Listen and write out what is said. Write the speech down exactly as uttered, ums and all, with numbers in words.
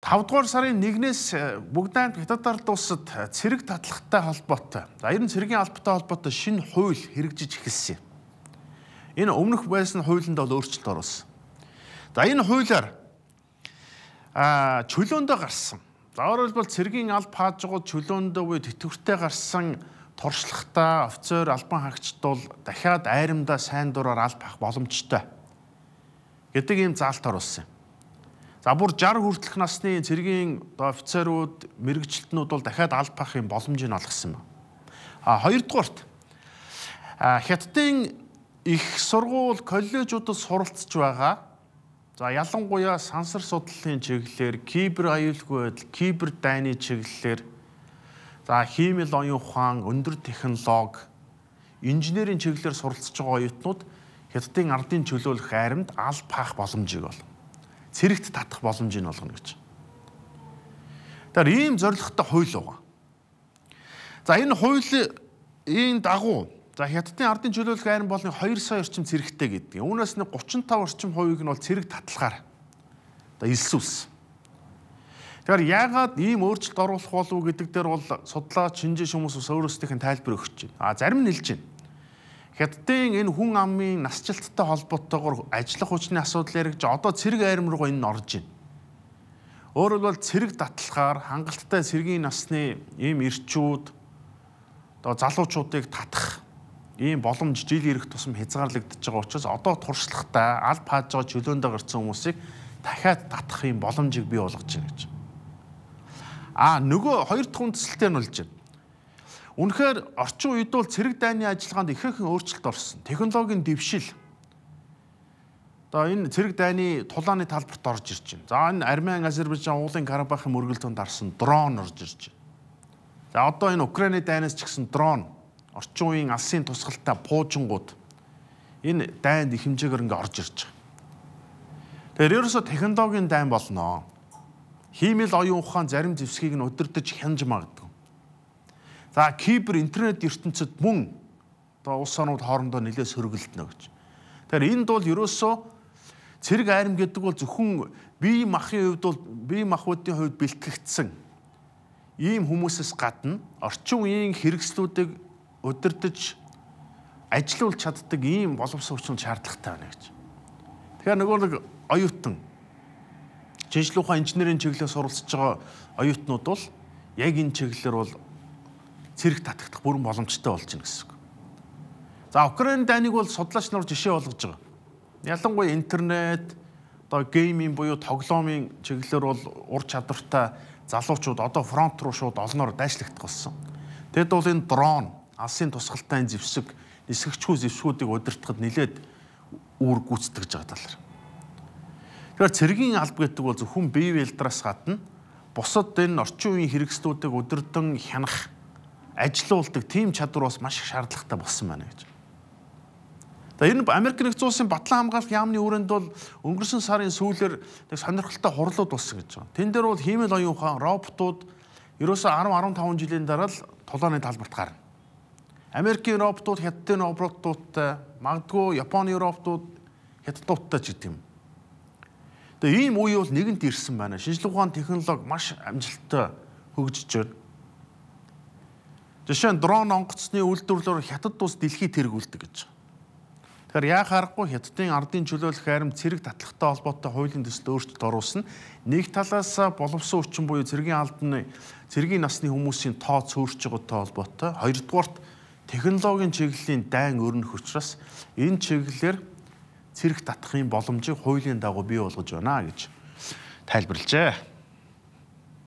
тавдугаар сарын нэгнээс бүгд найрамд Хятад ард улсад цэрэг татлахтай холбоотой. За ер нь цэргийн албатай холбоотой шинэ хууль хэрэгжиж эхэлсэн. Энэ өмнөх байсан хуулинд бол өөрчлөлт оруулсан. За энэ хуулиар а чөлөөндөө гарсан. За өөрөөр хэлбэл цэргийн алба хаажгууд чөлөөндөө буюу тэтгэвртэй гарсан туршлагатай офицер албан хаагчд бол дахиад айрамдаа сайн дураар алба хаах боломжтой гэдэг ийм заалт оруулсан. За бүр шарх хүртэлх насны цэргийн офицерууд, мэрэгчлэтнүүд бол дахиад алба хаахын боломжийг олгосон байна. А хоёрдугаарт Хятадын их сургууль, коллежуудад суралцж байгаа. За ялангуяа сансар судлалын чиглэлээр, кибер аюулгүй байдал, кибер дайны чиглэлээр, за хиймэл оюун ухаан, өндөр технологи, инженерийн чиглэлээр суралцж байгаа оюутнууд Хятадын ардын чөлөөлөх айрамд алба хаах боломжийг бол цэрэгт татах боломжийг олгоно гэж. Тэгэхээр ийм зорилготой хууль байгаа. За энэ хуулийн дагуу за Хятадын ардын чөлөөлөх айран болны хоёр сая орчим цэрэгтэй гэдэг. Үүнээс нь гучин тав орчим хувийг нь бол цэрэг татлагаар одоо илсүүлсэн. Тэгэхээр яагаад ийм өөрчлөлт оруулах болов гэдэг дээр бол судлаач, шинжээч хүмүүс бас өөрөөсдийнх нь тайлбар өгч байна. А зарим нь хэлж байна. Хятадын энэ хүн амын насжилттай холбоотойгоор ажиллах хүчний асуудал яригч одоо цэрэг айрам руу энэ нь орж байна. Өөрөөр хэлбэл цэрэг татлагаар хангалттай цэргийн насны ийм ирчүүд одоо залуучуудыг татах ийм боломж жил ирэх тусам хязгаарлагдаж байгаа учраас одоо туршлагатай алба хааж байгаа чөлөөндөө гарсан хүмүүсийг дахиад татах ийм боломжийг бий болгож байна гэж. А нөгөө хоёр дахь үндсэлтэй нь болж байна. Үнэхээр орчин үед бол цэрэг дайны ажиллагаанд ихээхэн өөрчлөлт орсон. Технологийн дэвшил. Одоо энэ цэрэг дайны тулааны талбарт орж ирж байна. За энэ Армян, Азербайджан, уулын Карабахын мөргөлдөөнд арсан дрон орж ирж байна. За одоо энэ Украины дайнаас ч гэсэн дрон, орчин үеийн алсын тусгалтай пуужингууд энэ дайнд их хэмжээгээр ингээ орж ирж байгаа. Тэгэхээр ерөөсө технологийн дайн болно. Хиймэл оюун ухаан зарим зэвсгийг нь удирдах хянж магадгүй. За кибер интернет ертөнцид мөн одоо улс орнууд хоорондоо нэлээд сөргөлдөнө гэж. Тэгэхээр энд бол ерөөсөө цэрэг айрам гэдэг бол зөвхөн бие махын хувьд бол бие махбодын хувьд бэлтгэгдсэн ийм хүмүүсээс гадна орчин үеийн хэрэгслүүдийг удирдах, ажилуулж чаддаг ийм боловсон хүчин шаардлагатай байна гэж. Тэгэхээр нөгөө нэг оюутан шинжлэх ухаан инженерийн чиглэлээр суралцж байгаа оюутнууд бол яг энэ чиглэлээр бол цэрэг татагдах бүрэн боломжтой болж байна гэсэн үг. За Украины дайныг бол судлаач нар жишээ болгож байгаа. Ялангуяа интернет, одоо гейминг буюу тоглоомын чиглэлээр бол ур чадвартай залуучууд одоо фронт руу шууд олноор дайшлагдах болсон. Тэгэд бол энэ дрон, алсын тусгалтай зэвсэг, нисгэгчгүй зэвсгүүдийг удирдахад нэлээд үүрэг гүйцэтгэж байгаа талаар. Тэгэхээр цэргийн алба гэдэг бол зөвхөн бие биелдраас гадна бусад энэ орчин үеийн хэрэгслүүдийг удирдан хянах, ажилуулдаг тийм чадвар бас маш их шаардлагатай болсон байна гэж. За энэ Америк нэгдсэн улсын батлан хамгаалах яамны хүрээнд бол өнгөрсөн сарын сүүлээр нэг сонирхолтой хурлууд болсон гэж байна. Тэн дээр бол хиймэл оюун ухаан, роботууд ерөөсөө арван арван таван жилийн дараа л тулааны талбарт гарна. Америкийн роботууд Хятадын роботуудтай, магадгүй Японы роботууд Хятадуудтай ч гэдэг юм. Тэгээ ийм үе бол нэгэнт ирсэн байна. Шинжлэх ухааны технологи маш амжилттай хөгжиж байна. Жишээ нь дрон онгоцны үйлдвэрлэлээр Хятад улс дэлхийд тэргүүлдэг гэж. Тэгэхээр яа харахгүй Хятадын ардын чөлөөлөх айрам цэрэг татлагтай холбоотой хуулийн төсөлд өөрчлөлт оруулсан. Нэг талаас боловсон хүчин буюу цэргийн албаны цэргийн насны хүмүүсийн тоо цөөрч байгаатай холбоотой. Хоёрдугаарт технологийн чиглэлийн дайн өрнөх учраас энэ чиглэлээр цэрэг татахын боломжийг хуулийн дагуу бий болгож байна гэж тайлбарлажээ.